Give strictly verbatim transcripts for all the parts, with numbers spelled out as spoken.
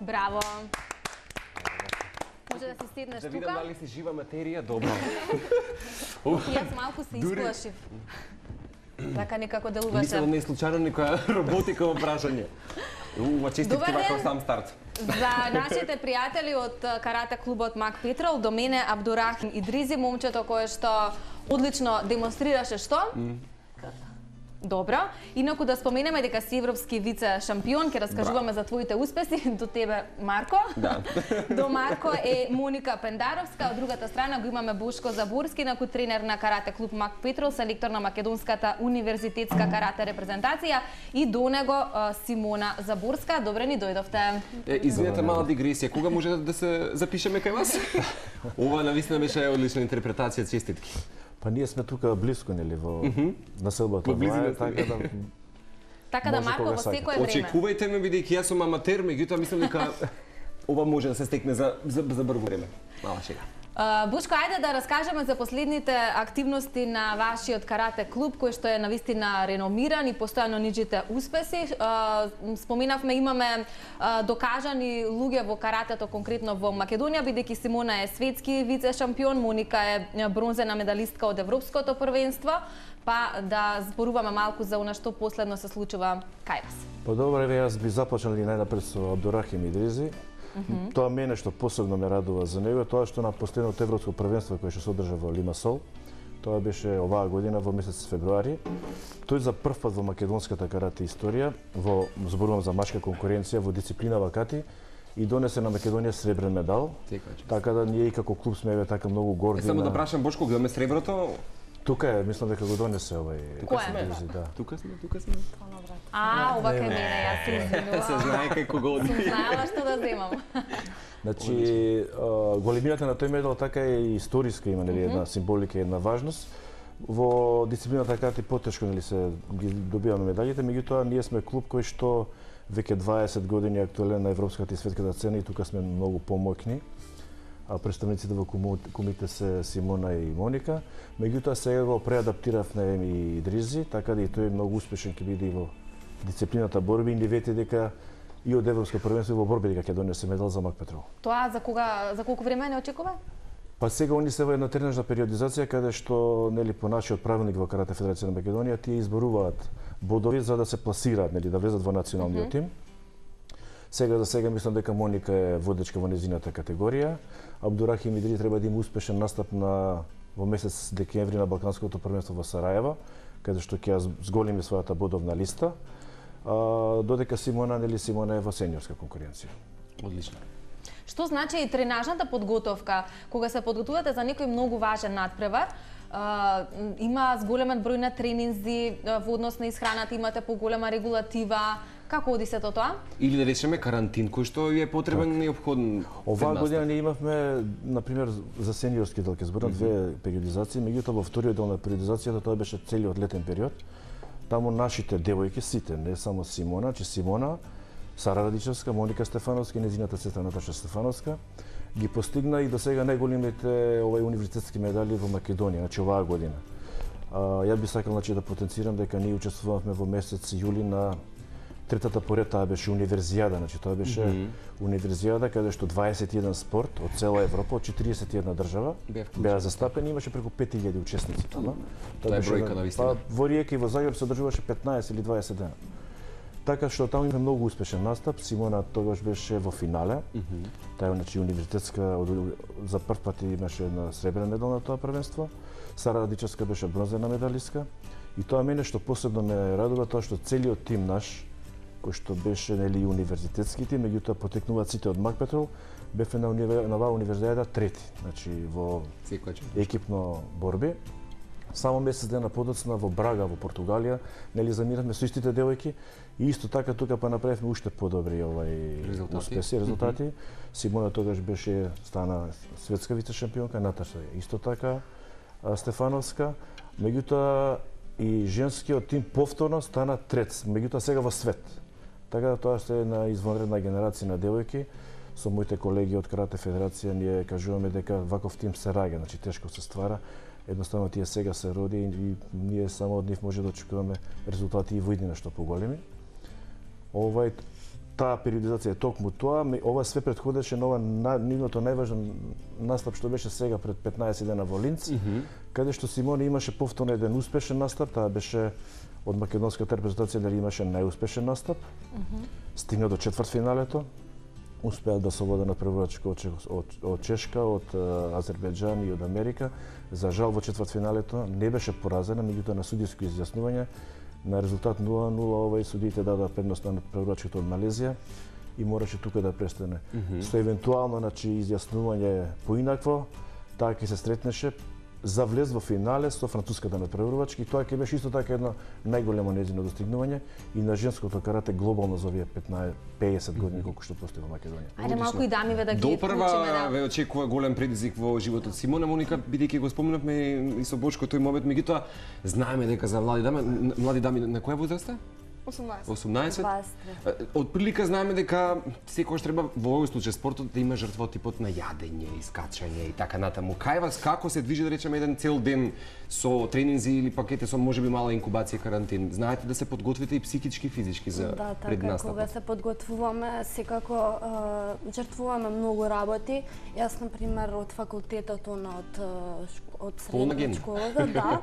Браво. Може да си седнеш Да тука? видам дали си жива материја, добро. Јас малку се исплашив. Така некако делуваше. Мислам да не е случајно некоја роботика во прашање. Ува, честитки вака сам старт. За нашите пријатели од карате клубот Мак Петрол, до мене Абдурахим Идризи, момчето кое што одлично демонстрираше што? Добро. Инаку да споменеме дека си европски вице шампион, ќе раскажуваме за твоите успеси. До тебе Марко. Да. До Марко е Моника Пендаровска, од другата страна го имаме Бошко Заборски, инаку тренер на карате клуб Мак Петрол, селектор на македонската универзитетска карате репрезентација, и до него Симона Заборска. Добре ни дојдовте. Е, извинете, мала дигресија. Кога може да се запишеме кај вас? Ова навистина беше одлична интерпретација, честитки. Па ние сме тука близко, нели, во населбата. Во близина така да Така да Марко во секое време. Очекувајте ме, бидејќи јас сум аматер, меѓутоа мислам дека ова може да се стекне за за, за брзо време. Мала шега. Бушко, ајде да раскажеме за последните активности на вашиот карате клуб, кој што е навистина реномиран и постојано ниџите успеси. Споменавме, имаме докажани луѓе во каратето, конкретно во Македонија, бидејќи Симона е светски вице шампион, Моника е бронзена медалистка од Европското првенство, па да зборуваме малку за она што последно се случува кај вас. Па добро, јас би започнал и најнапред со Абдурахим Идризи. Mm -hmm. Тоа мене што посебно ме радува за него, тоа што на последното европско првенство кое што се одржа во Лимасол, тоа беше оваа година во месец февруари. Тој за прв пат во македонската карате историја, во зборувам за машка конкуренција во дисциплина вакати, и донесе на Македонија сребрен медал. Така да ние и како клуб сме така многу горди. Е, само да прашам Бошко, гледаме среброто? Тука е, мислам дека го донесе овај. Тука сме, да. Тука сме, тука сме. А, ова кај мене, јас се извинувам. Се знае кај кого оди. Сум знаела што да земам. Значи, големината на тој медал така е историска, има нели една символика и една важност. Во дисциплината карате потешко нели се ги добиваме медалите, меѓутоа ние сме клуб кој што веќе дваесет години е актуелен на европската и светската сцена и тука сме многу помоќни. А представниците во кумите се Симона и Моника. Меѓутоа сега го преадаптиравме и Идризи, така да и тој многу успешен ќе биде и во дисциплината борби и не вети дека и од европско првенство и во борби дека ќе донесе медал за Мак Петрол. Тоа за кога, за колку време не очекува? Па сега они се во една тренажна периодизација каде што нели по нашиот правилник во Карате Федерација на Македонија тие изборуваат бодови за да се пласираат, нели да влезат во националниот mm -hmm. тим. Сега за сега мислам дека Моника е водечка во незината категорија. Абдурахим Идризи треба да има успешен настап на во месец декември на Балканското првенство во Сараево, каде што ќе зголеми својата бодовна листа. А, додека Симона, нели Симона е во сениорска конкуренција. Одлично. Што значи и тренажната подготовка? Кога се подготувате за некој многу важен надпревар, Uh, има зголемен број на тренинзи uh, во однос на исхраната, имате поголема регулатива. Како оди се тоа? Или да речеме карантин кој што е потребен, неопходен. Оваа година ние имавме, на пример, за сениорски дел, ќе зборам mm -hmm. две периодизации, меѓутоа во вториот дел на периодизацијата тоа беше целиот летен период. Таму нашите девојки сите, не само Симона, че Симона, Сара Радичевска, Моника Стефановска и незината сестра Наташа Стефановска ги постигна и до сега најголемите овај универзитетски медали во Македонија, значи оваа година. А, ја би сакал значи да потенцирам дека ние учествувавме во месец јули на третата поред, таа беше универзијада, значи тоа беше mm -hmm. универзијада каде што дваесет и еден спорт од цела Европа, од четириесет и една држава беа застапени, имаше преку пет илјади учесници тама. Тоа е бројка навистина. Па во Риека и во Загреб се одржуваше петнаесет или дваесет дена. Така што таму има многу успешен настап. Симона тогаш беше во финале. Mm -hmm. Таа е значи универзитетска, за прв пат имаше една сребрен медал на тоа првенство. Сара Радичевска беше бронзена медалистка. И тоа мене што посебно ме радува тоа што целиот тим наш, кој што беше нели универзитетски тим, меѓутоа потекнуваат сите од Мак Петрол, бевме на универ... на оваа универзијада трети, значи во екипно борби. Само месец дена подоцна во Брага во Португалија, нели замиравме со истите девојки и исто така тука па направивме уште подобри овај резултати. успеси, резултати. Mm -hmm. Симона тогаш беше стана светска вице шампионка, Наташа исто така Стефановска. Меѓутоа и женскиот тим повторно стана трет, меѓутоа сега во свет. Така да тоа што е една извонредна генерација на девојки. Со моите колеги од Карате Федерација ние кажуваме дека ваков тим се раѓа, значи тешко се ствара. Едноставно тие сега се роди и ние само од нив може да очекуваме резултати и во иднина што поголеми. Овај таа периодизација е токму тоа, ова све претходеше на ова на, нивното најважен настап што беше сега пред петнаесет дена во Линц, mm -hmm. каде што Симоне имаше повторно еден успешен настап, таа беше од македонската репрезентација дали имаше најуспешен настап. Mm -hmm. Стигна до четвртфиналето, успеа да се вода на првачко од, од, од Чешка, од Азербејџан и од Америка. За жал во четвртфиналето не беше поразена, меѓутоа на судиско изјаснување на резултат нула нула овај судиите дадоа предност на првачкото од Малезија и мораше тука да престане. Mm -hmm. Со евентуално значи изјаснување поинакво, таа ќе се сретнеше за влез во финале со француската надпреварувачка и тоа ќе беше исто така едно најголемо нејзино достигнување и на женското карате глобално за овие петнаесет години колку што постои во Македонија. Ајде малку и дамиве да ги допрва ве очекува голем предизвик во животот Симона Моника, бидејќи го спомнавме и со Бошко тој момент, меѓутоа знаеме дека за млади дами, млади дами на која возраст е? осумнаесет. осумнаесет. Од прилика знаеме дека секогаш треба во овој случај спортот да има жртва од типот на јадење, искачање и така натаму. Кај вас како се движи да речеме еден цел ден со тренинзи или пакете со можеби мала инкубација карантин? Знаете да се подготвите и психички и физички за да, пред така, настапот? Кога се подготвуваме, секако е, жртвуваме многу работи. Јас на пример од факултетот од од средна школата, да.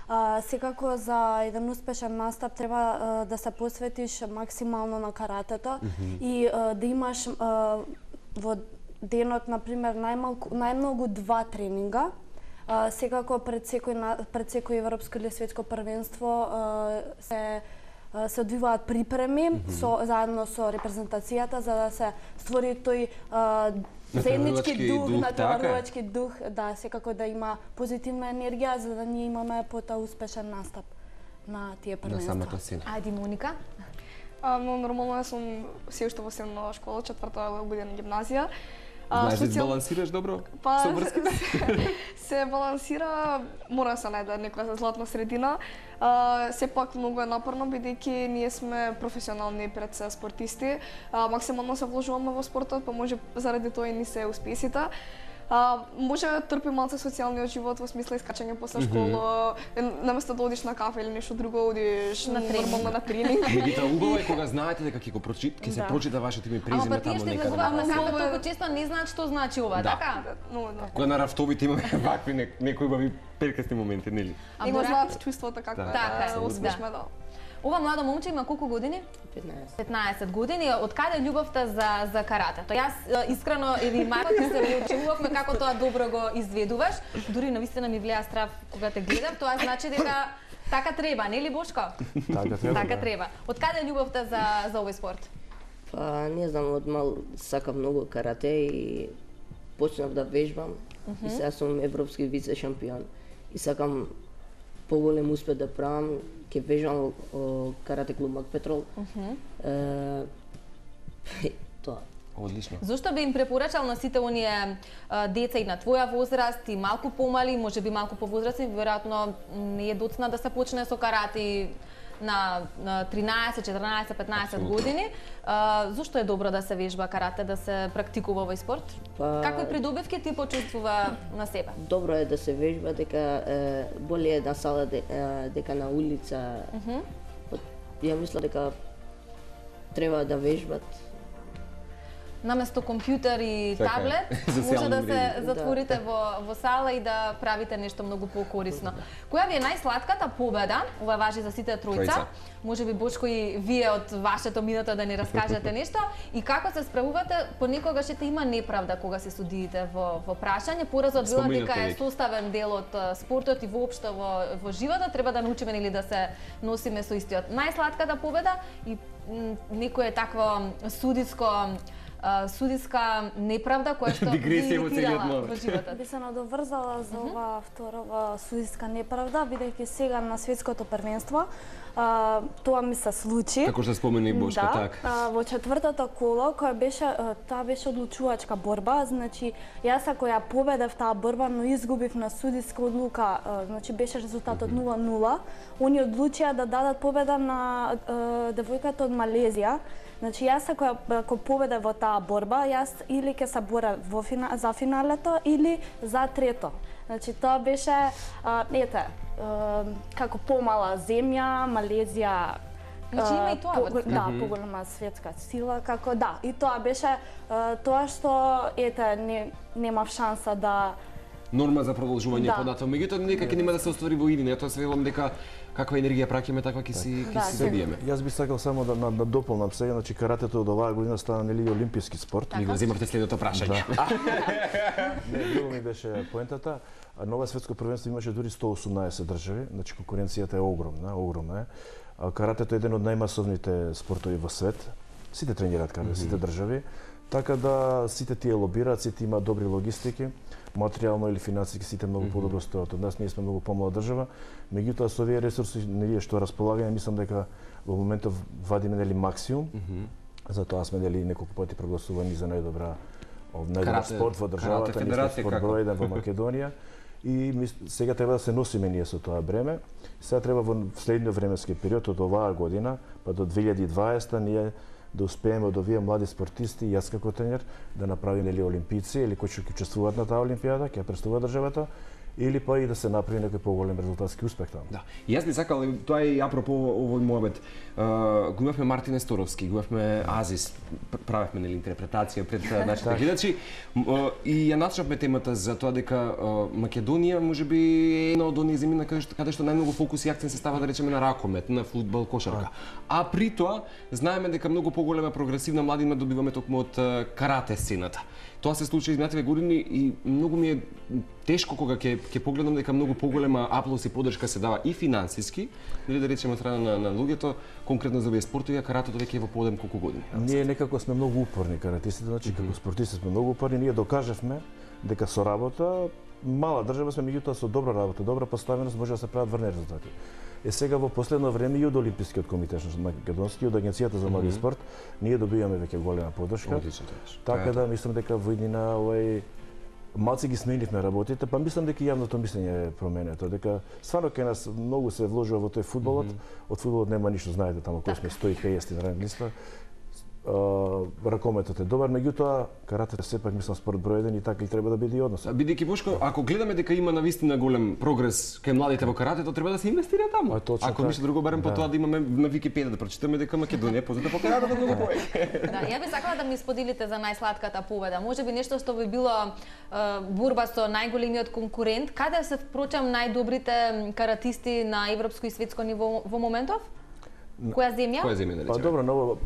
Uh, секако за еден успешен настап треба uh, да се посветиш максимално на каратето mm -hmm. и uh, да имаш uh, во денот, например, најмалку, најмногу два тренинга. Uh, секако пред секој, пред секој европско или светско првенство uh, се се одвиваат припреми mm -hmm. со, заедно со репрезентацијата за да се створи тој uh, заеднички дух, дух натпреварувачки дух, да, секако да има позитивна енергија за да ние имаме потоа успешен настап на тие првенства. На самата сцена. Ајде Моника. А, но нормално јас сум се уште во средна школа, четврта година гимназија. Знаеш да балансираш добро па, со врската? се, се балансира, мора да се најде некоја златна средина. А, сепак многу е напорно, бидејќи ние сме професионални пред се спортисти. А, максимално се вложуваме во спортот, па може заради тоа и ни се успесите. А, може да трпи малце социјалниот живот во смисла искачање после школа, mm -hmm. наместо да одиш на кафе или нешто друго, одиш на нормално на тренинг. Меѓутоа убаво е кога знаете дека ќе го прочит, ќе се Да. прочита вашето име и презиме таму некаде. Ама па тие што излегуваат на кафе толку често не знаат што значи ова, Да. така? Но, да. Кога на рафтовите имаме вакви не- некои убави перкасни моменти, нели? И го Бора? знаат чувството како Да. е Така е, да успешме, да. Ова младо момче има колку години? петнаесет. петнаесет години. Од каде е љубовта за за каратето? Јас е, искрено еви Марко ти се очувавме како тоа добро го изведуваш. Дури навистина ми влеа страв кога те гледам. Тоа значи дека така треба, нели Бошко? Така треба. Така да. треба. Од каде е љубовта за за овој спорт? Па не знам, од мал сакам многу карате и почнав да вежбам. Mm -hmm. И сега сум европски вице шампион. И сакам поголем успех да правам. Ќе вежбам во, во карате клуб Макпетрол. Mm -hmm. е, тоа. Одлично. Зошто би им препорачал на сите оние а, деца и на твоја возраст и малку помали, можеби малку повозрастни, веројатно не е доцна да се почне со карате на, на тринаесет, четрнаесет, петнаесет Апсолутно. години. А, зошто е добро да се вежба карате, да се практикува овој спорт? Па- Какви придобивки ти почувствува на себе? Добро е да се вежба, дека е, боле е на сала де, е, дека на улица. Mm -hmm. Ја мисля дека треба да вежбат. Наместо компјутер и Така е. таблет, За може да социјални се мрежи. затворите во, во сала и да правите нешто многу покорисно. Која ви е најслатката победа? Ова важи за сите тројца. Тројца. Може би Бошко и вие од вашето минуто да ни раскажете нешто и како се справувате, понекогаш ете има неправда кога се судиите во во прашање. Поразот била Споминате дека е веќе. составен дел од а, спортот и воопшто во во животот, треба да научиме нели да се носиме со истиот. Најслатката победа и м, некое такво судиско а, судиска неправда која што Дигресија во ви целиот иритирала мор. во животот. Би се надоврзала за ова второва судиска неправда, бидејќи сега на светското првенство а, тоа ми се случи. Како што спомена и Бошко, да, така. а, во четвртото коло, која беше, а, таа беше одлучувачка борба, значи јас ако ја победев таа борба, но изгубив на судиска одлука, а, значи беше резултатот нула нула, они одлучија да дадат победа на а, девојката од Малезија. Значи јас ако, ја- ако победев во таа борба, јас или ќе се борев во фина, за финалето или за трето. Значи тоа беше, а, ете, а, како помала земја, Малезија Значи има и тоа. По, да, поголема светска сила, како да. И тоа беше а, тоа што ете не немав шанса да норма за продолжување да. понатаму. Меѓутоа нека ќе нема да се оствари во иднина. Тоа се велам дека каква енергија праќаме, таква ќе си ќе Да, си се- добиеме. Јас би сакал само да, да, да дополнам сега, значи каратето од оваа година стана нели олимписки спорт. Ни го земавте следното прашање. Не, друго ми беше поентата. А на ова светско првенство имаше дури сто осумнаесет држави, значи конкуренцијата е огромна, огромна е. А каратето е еден од најмасовните спортови во свет. Сите тренираат карате, сите држави. Така да сите тие лобираат, сите имаат добри логистики, материјално или финансиски сите многу подобро стојат од нас. Ние сме многу помлада држава, меѓутоа со овие ресурси ние што располагаме, мислам дека во моментов вадиме нели максимум. Затоа сме нели неколку пати прогласувани за најдобра најдобар Карате- спорт во карате државата, ние сме федерација спорт како? број еден во Македонија. И мис- сега треба да се носиме ние со тоа бреме. Сега треба во следниот временски период од оваа година па до две илјади и дваесета ние да успееме од овие млади спортисти, јас како тренер, да направиме или олимпици или кои што ќе учествуваат на таа олимпијада, ќе ја представуваат државата, или па и да се направи некој поголем резултатски успех таму. Да. И јас би сакал, и тоа е и апропо овој муабет. Uh, го имавме Мартин Есторовски, го имавме Азис, пр- правевме нели интерпретација пред uh, нашите гледачи uh, и ја начнавме темата за тоа дека uh, Македонија можеби е една од оние земји на каде што, каде што најмногу фокус и акцент се става да речеме на ракомет, на фудбал, кошарка. А при тоа знаеме дека многу поголема прогресивна младина добиваме токму од uh, карате сцената. Тоа се случи изминативе години и многу ми е тешко кога ќе ќе погледам дека многу поголема аплаус и поддршка се дава и финансиски, нели да речеме од страна на, на луѓето, конкретно за овие спортови, а каратето веќе е во подем колку години. Ние некако сме многу упорни каратистите, значи како спортисти сме многу упорни, ние докажавме дека со работа мала држава сме, меѓутоа со добра работа, добра поставеност може да се прават врни резултати. Е сега во последно време и од Олимпискиот комитет македонски и од Агенцијата за млади спорт ние добиваме веќе голема поддршка. Одлично тоа беше. Така да мислам дека во иднина овај малци ги сменивме работите, па мислам дека и јавното мислење е променето, дека стварно кај нас многу се вложува во тој фудбалот, од фудбалот нема ништо, знаете таму кој сме сто и песет на ранг листа. Uh, ракометот е добар, меѓутоа каратето сепак мислам спорт број еден и така и треба да биде и однос. Бидејќи Бошко, ако гледаме дека има навистина голем прогрес кај младите во каратето, треба да се инвестира таму. А, точно ако така. ништо друго барем по Да. тоа да имаме на Википедија да прочитаме дека Македонија е позната по каратето многу повеќе. Да, ја би сакала да ми споделите за најслатката победа. Можеби нешто што би било е, борба со најголемиот конкурент. Каде се впрочем најдобрите каратисти на европско и светско ниво во моментов? Која земја? Која земја да Па речеме? добро, но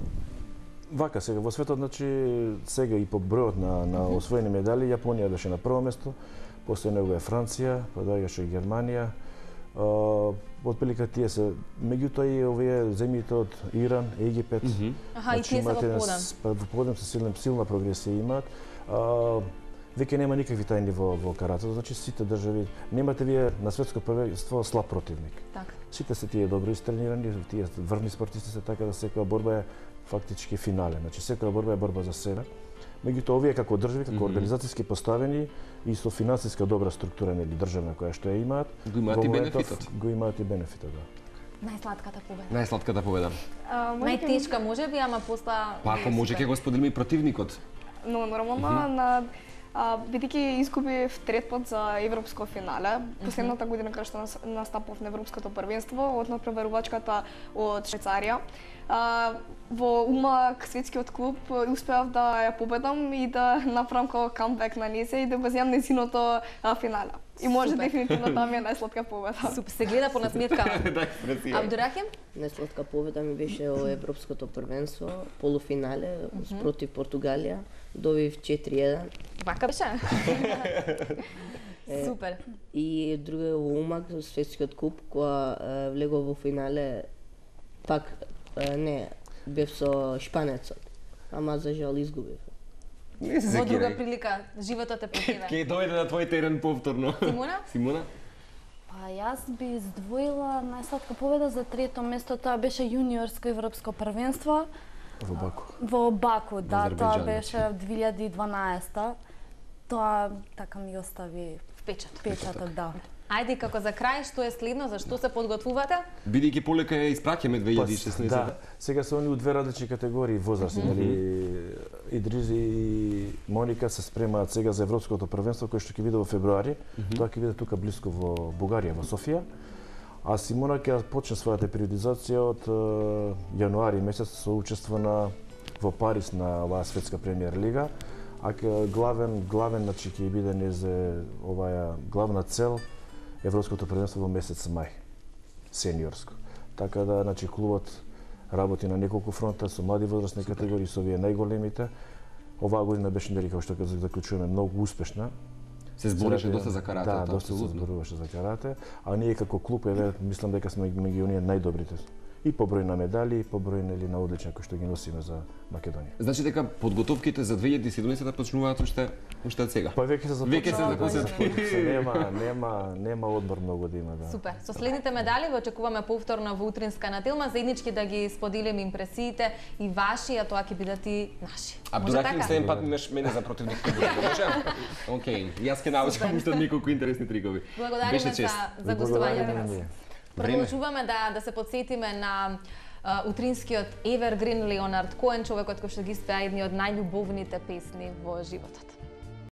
вака сега во светот, значи сега и по бројот на на освоени медали, Јапонија беше на прво место, после него е Франција, па доаѓаше Германија. Uh, отприлика тие се, меѓутоа и овие земјите од Иран, Египет. Аха, и тие се имаат во еден подем. с- па во подем се силна, силна прогресија имаат. Uh, веќе нема никакви тајни во, во каратето, значи сите држави, немате вие на светско првенство слаб противник. Така. Сите се тие добро истренирани, тие врвни спортисти се, така да секоја борба е фактички финале. Значи секоја борба е борба за себе. Меѓутоа овие како држави, како организацијски поставени и со финансиска добра структура нели државна која што ја имаат, Го имаат во и моментов бенефитот. Го имаат и бенефитот, да. Најслатката победа. Најслатката победа. А, може ќе- Најтешка можеби, ама после Па ако може ќе го споделиме и противникот. Но нормално на а, бидејќи изгубив трет пат за европско финале, последната година кога што нас- настапав на европското првенство од надпреварувачката од Швајцарија. А, во умак светскиот клуб успеав да ја победам и да направам како камбек на незе и да го земам незиното а, финале. И може Супер. дефинитивно да ми е најслатка победа. Супер, се гледа по насметка. Да, експресија. Абдурахим? Најслатка победа ми беше во Европското првенство, полуфинале спротив Португалија. Добив четири еден. Вака беше. Супер. И друго во Умак, светскиот куп, која е, влегов во финале, пак е, не, бев со шпанецот. Ама за жал изгубив. Не се Во друга секирај. прилика, животот е по тебе. Ќе дојде на твој терен повторно. Симона? Симона? Па јас би издвоила најслатка победа за трето место, тоа беше јуниорско европско првенство Во Баку. во Баку, да, тоа Азербејџан, беше две илјади и дванаесета. Тоа така ми остави Впечат. печаток, да. Ајде, како за крај, што е следно, за што се подготвувате? Бидејќи полека ја испраќаме две илјади и шеснаесета. Да, сега се они у две различни категории возрасти, нели Идризи и Моника се спремаат сега за европското првенство кој што ќе биде во февруари. Тоа ќе биде тука блиско во Бугарија, во Софија. А Симона ќе почне својата периодизација од е, јануари месец со учество на во Париз на оваа светска премиер лига, а ке, главен главен значи ќе биде незе оваа главна цел Европското првенство во месец мај, сениорско. Така да значи клубот работи на неколку фронта со млади возрастни категории, со овие најголемите. Оваа година беше нели како што ќе заклучуваме многу успешна. Се збореше доста за карате, да, доста се зборуваше за карате, а ние како клуб еве мислам дека сме меѓу оние најдобрите. И по број на медали, и по број нели на одличја кои што ги носиме за Македонија. Значи дека подготовките за две илјади и седумнаесета почнуваат уште уште од сега. Па веќе се започна. Веќе се започна. Нема нема нема одмор многу да има, да. Супер. Со следните медали ве очекуваме повторно во утринска на Телма, заеднички да ги споделиме импресиите и ваши, а тоа ќе бидат и наши. Абдурахим, следен пат имаш мене за противник. Може? Океј, јас ќе научам уште неколку интересни трикови. Благодариме за за гостувањето. Време. Продолжуваме да да се потсетиме на uh, утринскиот Evergreen Леонард Коен, човекот кој што ги спеа едни од најљубовните песни во животот.